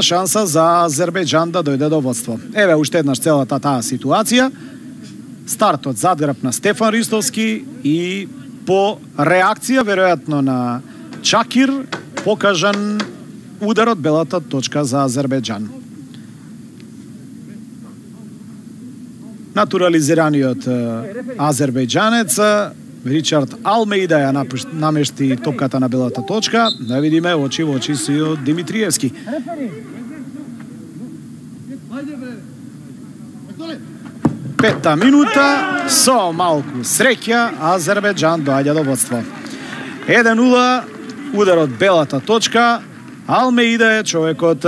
Нема шанса за Азербејџан да дојде до водство. Еве уште еднаш целата таа ситуација. Стартот задграб на Стефан Ристовски и по реакција веројатно на Чакир покажан ударот белата точка за Азербејџан. Натурализираниот азербејџанец Ричард Алмеида ја намешти топката на белата точка. Да видиме очи во очи со Димитриевски. Петта минута, со малку среќа Азербејџан доаѓа до водство. 1-0, ударот белата точка. Алмеида е човекот